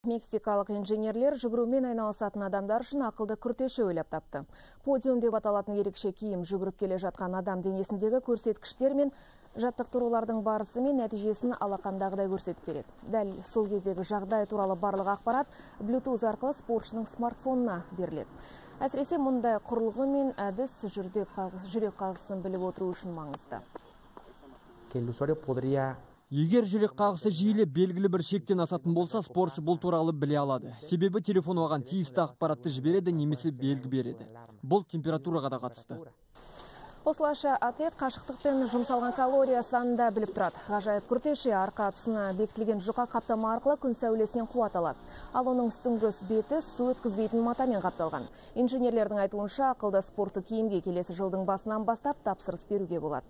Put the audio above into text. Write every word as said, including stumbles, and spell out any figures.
Мексикалық инженерлер жүгірумен айналысатын адамдар үшін ақылды күртеше ойлап тапты. Подиум деп аталатын ерекше киім жүгіріп келе жатқан адам денесіндегі көрсеткіштер мен жаттықтырулардың барысы мен нәтижесін алақандағыдай көрсетіп береді. Дәл сол кездегі жағдай туралы барлық ақпарат Bluetooth арқылы спортшының смартфонына беріледі. Әсіресе мұндай құрылғы мен әдіс жүрек қағысын біліп отыру үшін маңызды. Егер жүрек қағысы жиілеп белгілі бір шектен асатын болса, спортшы бұл туралы біле алады. Себебі телефон оған тиісті ақпаратты жібереді немесе белгі береді. Бұл температураға да қатысты. Осылайша атлет қашықтықпен жұмсалған калория санын да біліп тұрады. Ғажайып күртеше арқа тұсына бекітілген жұқа қаптама арқылы күн сәулесінен қуат алады. Ал оның үстіңгі беті су өткізбейтін матамен қапталған. Инженерлердің айтуынша ақылды спорттық киімге келесі жылдың басынан бастап тапсырыс беруге болады.